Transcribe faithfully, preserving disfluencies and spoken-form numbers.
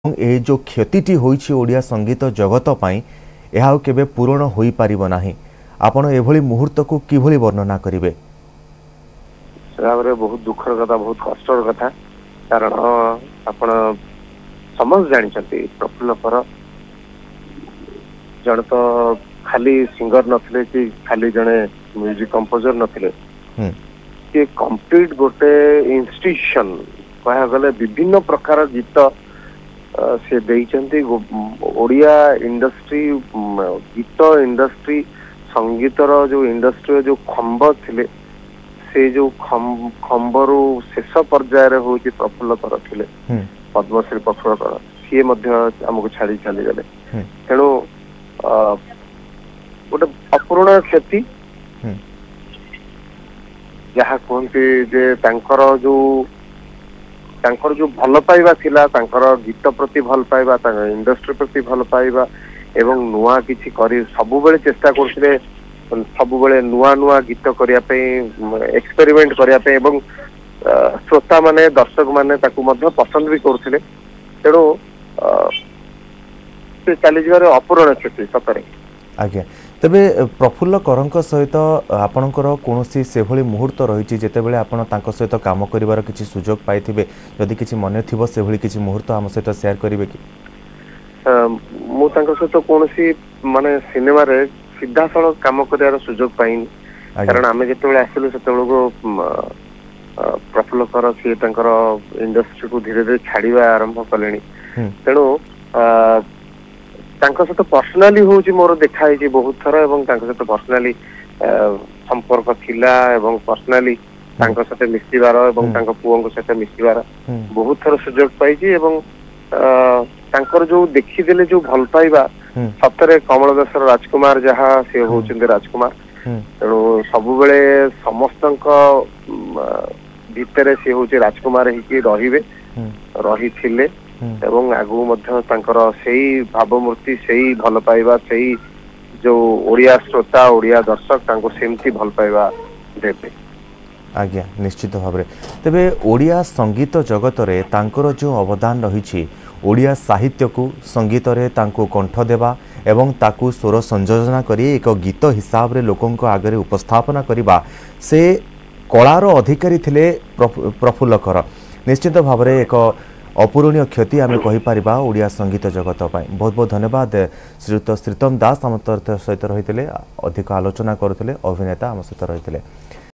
ଏ ଯେଉଁ କ୍ଷତିଟି ହୋଇଛି ଓଡ଼ିଆ ସଙ୍ଗୀତ ଜଗତ ପାଇଁ, ଏହା ଆଉ କେବେ ପୂରଣ ହୋଇପାରିବ ନାହିଁ। ଆପଣ ଏଭଳି ମୁହୂର୍ତ୍ତକୁ କିଭଳି ବର୍ଣ୍ଣନା କରିବେ? ଭାବରେ ବହୁତ ଦୁଃଖର କଥା, ବହୁତ କଷ୍ଟର କଥା, କାରଣ ଆପଣ ସମସ୍ତେ ଜାଣିଛନ୍ତି ପ୍ରଫୁଲ୍ଲ କର ଜଣେ ତ ଖାଲି ସିଙ୍ଗର ନଥିଲେ କି ଖାଲି ଜଣେ ମ୍ୟୁଜିକ କମ୍ପୋଜର ନଥିଲେ, ସିଏ କମ୍ପ୍ଲିଟ ଗୋଟେ ଇନଷ୍ଟିଟ୍ୟୁସନ କହିବାକୁ ଗଲେ। ବିଭିନ୍ନ ପ୍ରକାର ଗୀତ ସେ ଦେଇଛନ୍ତି। ଓଡ଼ିଆ ଇଣ୍ଡଷ୍ଟ୍ରି, ଗୀତ ଇଣ୍ଡଷ୍ଟ୍ରି, ସଙ୍ଗୀତର ଯୋଉ ଇଣ୍ଡଷ୍ଟ୍ରିର ଯୋଉ ଖମ୍ବ ଥିଲେ, ସେ ଯୋଉ ଖମ୍ବରୁ ଶେଷ ପର୍ଯ୍ୟାୟରେ ହଉଛି ପ୍ରଫୁଲ୍ଲ କର ଥିଲେ, ପଦ୍ମଶ୍ରୀ ପ୍ରଫୁଲ୍ଲ କର। ସିଏ ମଧ୍ୟ ଆମକୁ ଛାଡି ଚାଲିଗଲେ। ତେଣୁ ଗୋଟେ ଅପୂରଣ କ୍ଷତି। ଯାହା କୁହନ୍ତି ଯେ ତାଙ୍କର ଯୋଉ ତାଙ୍କର ଯୋଉ ଭଲ ପାଇବା ଥିଲା, ତାଙ୍କର ଗୀତ ପ୍ରତି ଭଲ ପାଇବା, ତାଙ୍କ ଇଣ୍ଡଷ୍ଟ୍ରି ପ୍ରତି ଭଲ ପାଇବା, ଏବଂ ନୂଆ କିଛି କରି ସବୁବେଳେ ଚେଷ୍ଟା କରୁଥିଲେ, ସବୁବେଳେ ନୂଆ ନୂଆ ଗୀତ କରିବା ପାଇଁ, ଏକ୍ସପେରିମେଣ୍ଟ କରିବା ପାଇଁ, ଏବଂ ଶ୍ରୋତା ମାନେ, ଦର୍ଶକ ମାନେ ତାକୁ ମଧ୍ୟ ପସନ୍ଦ ବି କରୁଥିଲେ। ତେଣୁ ସେ ଚାଲିଯିବାରେ ଅପୂରଣ କ୍ଷତି ସତରେ। ଆଜ୍ଞା, ତେବେ ପ୍ରଫୁଲ୍ଲ କରଙ୍କ ସହିତ ଆପଣଙ୍କର କୌଣସି ସେଭଳି ମୁହୂର୍ତ୍ତ ରହିଛି ଯେତେବେଳେ ଆପଣ ତାଙ୍କ ସହିତ କାମ କରିବାର କିଛି ସୁଯୋଗ ପାଇଥିବେ? ଯଦି କିଛି ମନେ ଥିବ ସେଭଳି କିଛି ମୁହୂର୍ତ୍ତ ଆମ ସହିତ ସେୟାର କରିବେ କି? ମୁଁ ତାଙ୍କ ସହିତ କୌଣସି ମାନେ ସିନେମାରେ ସିଧାସଳଖ କାମ କରିବାର ସୁଯୋଗ ପାଇନି, କାରଣ ଆମେ ଯେତେବେଳେ ଆସିଲୁ ସେତେବେଳକୁ ପ୍ରଫୁଲ୍ଲ କର ସିଏ ତାଙ୍କର ଇଣ୍ଡଷ୍ଟ୍ରିକୁ ଧୀରେ ଧୀରେ ଛାଡିବା ଆରମ୍ଭ କଲେଣି। ତେଣୁ ତାଙ୍କ ସହିତ ପର୍ସନାଲି ହଉଛି ମୋର ଦେଖା ହେଇଛି ବହୁତ ଥର, ଏବଂ ତାଙ୍କ ସହିତ ପର୍ସନାଲି ସମ୍ପର୍କ ଥିଲା, ଏବଂ ପର୍ସନାଲି ତାଙ୍କ ସହିତ ମିଶିବାର ଏବଂ ତାଙ୍କ ପୁଅଙ୍କ ସହିତ ମିଶିବାର ବହୁତ ଥର ସୁଯୋଗ ପାଇଛି। ଏବଂ ତାଙ୍କର ଯୋଉ ଦେଖିଦେଲେ ଯୋଉ ଭଲ ପାଇବା, ସତରେ କମଳ ଦେଶର ରାଜକୁମାର ଯାହା, ସେ ହଉଛନ୍ତି ରାଜକୁମାର। ତେଣୁ ସବୁବେଳେ ସମସ୍ତଙ୍କ ଭିତରେ ସେ ହଉଛି ରାଜକୁମାର ହେଇକି ରହିବେ, ରହିଥିଲେ, ଏବଂ ଆଗକୁ ମଧ୍ୟ ତାଙ୍କର ସେଇ ଭାବମୂର୍ତ୍ତି, ସେଇ ଭଲ ପାଇବା, ସେଇ ଯୋଉ ଓଡ଼ିଆ ଶ୍ରୋତା, ଓଡ଼ିଆ ଦର୍ଶକ ତାଙ୍କୁ ସେମିତି ଭଲ ପାଇବା ଦେବେ। ଆଜ୍ଞା, ନିଶ୍ଚିତ ଭାବରେ। ତେବେ ଓଡ଼ିଆ ସଙ୍ଗୀତ ଜଗତରେ ତାଙ୍କର ଯେଉଁ ଅବଦାନ ରହିଛି, ଓଡ଼ିଆ ସାହିତ୍ୟକୁ ସଙ୍ଗୀତରେ ତାଙ୍କୁ କଣ୍ଠ ଦେବା ଏବଂ ତାକୁ ସ୍ୱର ସଂଯୋଜନା କରି ଏକ ଗୀତ ହିସାବରେ ଲୋକଙ୍କ ଆଗରେ ଉପସ୍ଥାପନା କରିବା, ସେ କଳାର ଅଧିକାରୀ ଥିଲେ ପ୍ରଫୁଲ୍ଲ କର। ନିଶ୍ଚିତ ଭାବରେ ଏକ ଅପୂରଣୀୟ କ୍ଷତି ଆମେ କହିପାରିବା ଓଡ଼ିଆ ସଙ୍ଗୀତ ଜଗତ ପାଇଁ। ବହୁତ ବହୁତ ଧନ୍ୟବାଦ ଶ୍ରୀଯୁକ୍ତ ଶ୍ରୀତମ ଦାସ, ଆମ ସହିତ ରହିଥିଲେ, ଅଧିକ ଆଲୋଚନା କରୁଥିଲେ, ଅଭିନେତା ଆମ ସହିତ ରହିଥିଲେ।